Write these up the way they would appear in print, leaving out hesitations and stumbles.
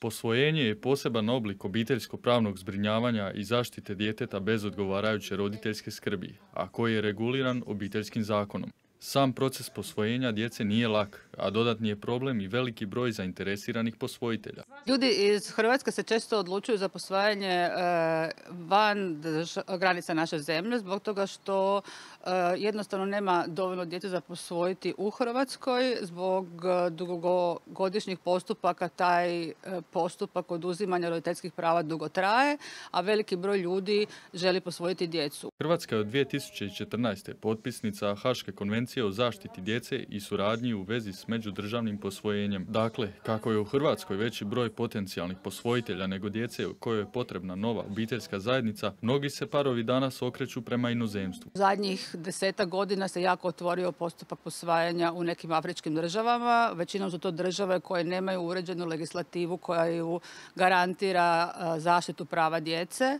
Posvojenje je poseban oblik obiteljsko-pravnog zbrinjavanja i zaštite djeteta bez odgovarajuće roditeljske skrbi, a koji je reguliran obiteljskim zakonom. Sam proces posvojenja djece nije lak, a dodatni je problem i veliki broj zainteresiranih posvojitelja. Ljudi iz Hrvatske se često odlučuju za posvajanje van granica naše zemlje zbog toga što jednostavno nema dovoljno djece za posvojiti u Hrvatskoj. Zbog dugogodišnjih postupaka taj postupak oduzimanja roditeljskih prava dugo traje, a veliki broj ljudi želi posvojiti djecu. Hrvatska je od 2014. potpisnica Haške konvencije o zaštiti djece i suradnji u vezi s međudržavnim posvojenjem. Dakle, kako je u Hrvatskoj veći broj potencijalnih posvojitelja nego djece kojoj je potrebna nova obiteljska zajednica, mnogi se parovi danas okreću prema inozemstvu. Zadnjih 10 godina se jako otvorio postupak posvajanja u nekim afričkim državama. Većinom su to države koje nemaju uređenu legislativu koja ju garantira zaštitu prava djece.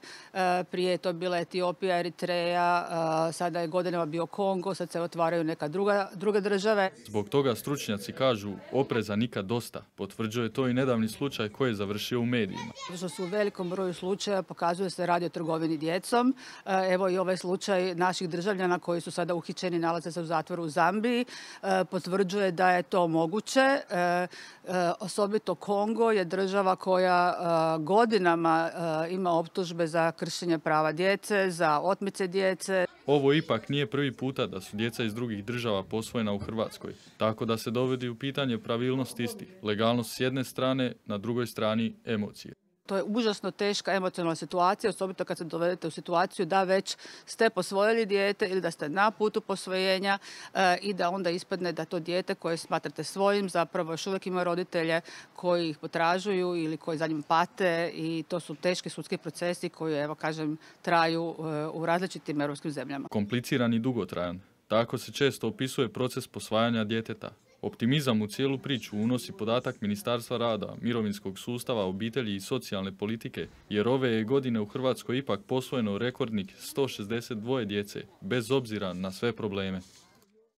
Prije je to bila Etiopija, Eritreja, sada je godinama bio Kongo, sad se otvaraju neka druge države. Zbog toga stručnjaci kažu opreza nikad dosta. Potvrđuje to i nedavni slučaj koji je završio u medijima. Što su u velikom broju slučaja pokazuje se radi o trgovini djecom. Evo i ovaj slučaj naših državljana koji su sada uhićeni, nalaze se u zatvoru u Zambiji, potvrđuje da je to moguće. Osobito Kongo je država koja godinama ima optužbe za kršenje prava djece, za otmice djece. Ovo ipak nije prvi puta da su djeca iz drugih država posvojena u Hrvatskoj, tako da se dovodi u pitanje pravilnost istih, legalnost s jedne strane, na drugoj strani emocije. To je užasno teška emocionalna situacija, osobito kad se dovedete u situaciju da već ste posvojili dijete ili da ste na putu posvojenja i da onda ispadne da to dijete koje smatrate svojim zapravo još uvijek ima roditelje koji ih potražuju ili koji za njim pate i to su teški sudski procesi koji, evo kažem, traju u različitim europskim zemljama. Kompliciran i dugotrajan. Tako se često opisuje proces posvajanja djeteta. Optimizam u cijelu priču unosi podatak Ministarstva rada, mirovinskog sustava, obitelji i socijalne politike, jer ove je godine u Hrvatskoj ipak posvojeno rekordnih 162 djece, bez obzira na sve probleme.